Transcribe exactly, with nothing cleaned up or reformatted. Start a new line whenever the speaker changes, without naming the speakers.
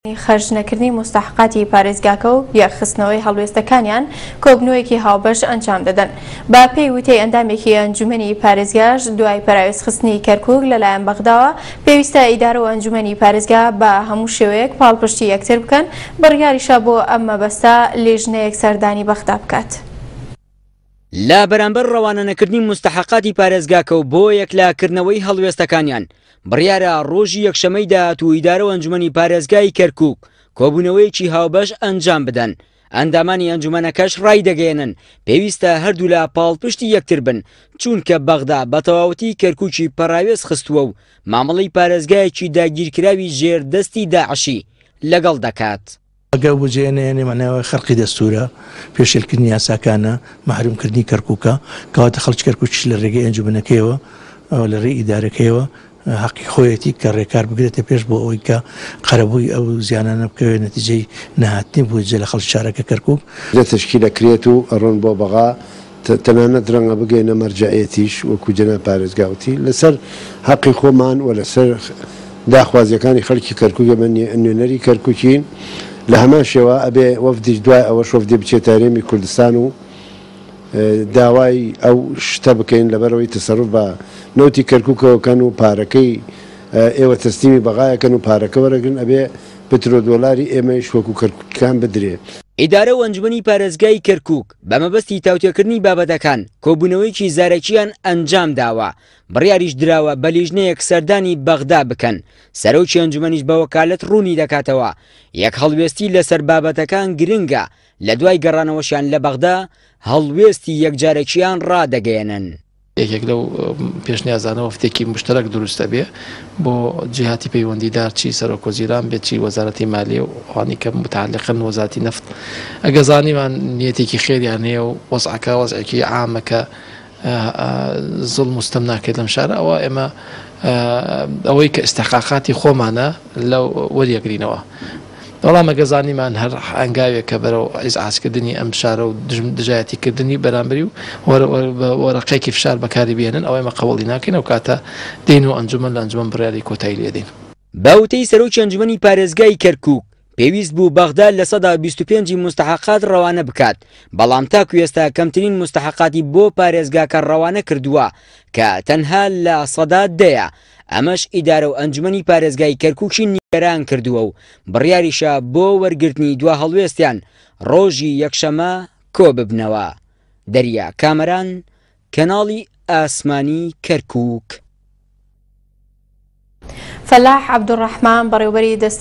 خەرجنەکردنی موستەحەقاتی پارێزگاکە و یەکخستنەوەی هەڵوێستەکانیان کۆبنەوەیەکی هاوبەش ئەنجام دەدەن. با پێی وتەی ئەندامێکی ئەنجومەنی پارێزگاش دوای پەراوێزخستنی کەرکوک لەلایەن بەغداوە پێویستە ئیدارە و ئەنجومەنی پارێزگا بە هەموو شێوەیەک پاڵپشتی یەکتر بکەن، بڕیاریشە بۆ ئەم مەبەستە لیژنەیەک سەردانی بەغدا بکات.
لە بەرامبەر ڕەوانەنەکردنی موستەحەقاتی پارێزگاکە و بۆ یەکلاکردنەوەی هەڵوێستەکانیان بڕیارە ڕۆژی یەکشەمەی داهاتوو ئیدارە و ئەنجومەنی پارێزگای کەرکوک کۆبوونەوەیەکی هاوبەش ئەنجام بدەن. ئەندامانی ئەنجومەنەکەش ڕایدەگەیەنن پێویستە هەردوولا پاڵپشتی یەکتر بن، چونکە بەغدا بە تەواوەتی کەرکوکی پەراوێز خستووە و مامەڵەی پارێزگایەکی داگیرکراوی ژێر دەستی داعشی لەگەڵ دەکات.
ئەگەر بجێ نەیەنێ معناوە خەرقی دەستورە، پێشێلکردنی یاساکانە، مەحرومکردنی کەرکوکە، کەواتە خەڵکی کەرکوکیش لە ڕێگەی ئەنجومەنەکەیەوە لە ڕێی ئیدارەکەیەوە حەقی خۆیەتی کە ڕێکار بگرێتە پێش بۆ ئەوەی کە قەرەبووی ئەو زیانانە بکەوێت نەتیجەی نەهاتنی بودجە لە خەڵکی شارەکە کەرکوک.
لە تەشکیل ئەکرێت و ئەڕۆن بۆ بەغا، تەنانەت ڕەنگە بگەینە مەرجەعیەتیش وەکو جەناب پارێزگاوتی لەسەر حەقی خۆمان و لەسەر داخوازیەکانی خەڵکی کەرکوک ئێمە نوێنەری کەرکوکین. لە هەمان شێوە ئەبێ وەفدیش دوای ئەوەش وەفدی بچێتە هەرێمی کوردستان و داوای ئەو شتە بکەین لەبەرەوەی تەسەروف بە نەوتی کەرکوکەوەکەن و پارەکەی ئێوە تەسلیمی بەغایەکەن و پارەکە وەرەگرن، ئەبێ پترۆدۆلاری ئێمەیش وەکو کەرکوکەکان بدرێ.
ئیدارە و ئەنجومەنی پارێزگای کەرکوک بە مەبەستی تاوتێکردنی بابەتەکان کۆبوونەوەیەکی زارەکیان ئەنجام داوە، بڕیاریش دراوە بە لیژنەیەک سەردانی بەغدا بکەن. سەرۆکی ئەنجومەنیش بە وەکالەت ڕوونی دەکاتەوە یەک هەڵوێستی لەسەر بابەتەکان گرنگە، لە دوای گەڕانەوەشیان لە بەغدا هەڵوێستی یەکجارەکیان ڕادەگەیەنن.
یەکێک لەو پێشنیازانە وەفدێکی مشتەرەک دروستە بێ بۆ جیهاتی پەیوەندیدار، چی سەرۆک وەزیران بێت، چی وەزارەتی مالیە و ئەوانەی کە متعلقن وەزارەتی نەفت. ئەگە زانیمان نیەتێکی خێریان هەیە و وەزعەکە وەزعێکی عامە کە زوڵم و ستەم ناکرێت لەم شارە، ئەوە ئێمە ئەوەی کە ئیستحقاقاتی خۆمانە لەو وەریەگرینەوە. بەڵام ئەگە زانیمان هەر ئەنگاوێک کە بەرەو ئیزعاجکردنی ئەم شارە و دژایەتیکردنی بەرامبەری و وەرەقێکی فشار بەکاری بێنن، ئەوە ئێمە قبوڵی ناکەین. ئەو کاتە دێن و ئەنجومەن لە ئەنجومەن بڕیاری کۆتایی لێدەین.
بە وتەی سەرۆکی ئەنجومەنی پارێزگای کەرکوک پێویست بوو بەغدا لە سەدا بیست و پێنجی موستەحەقات ڕەوانە بکات، بەڵام تاکو ئێستا کەمترین موستەحەقاتی بۆ پارێزگاکە ڕەوانە کردووە کە تەنها لە سەدا دەیە. ئەمەش ئیدارە و ئەنجومەنی پارێزگای کەرکوکی نیگەران کردووە و بڕیاریشە بۆ وەرگرتنی دوا هەڵوێستیان ڕۆژی یەکشەمە کۆ ببنەوە. دەریا کامەران، کەناڵی ئاسمانی کەرکوک.
فەلاح عەبدولڕەحمان بەڕێوبەری دەستەی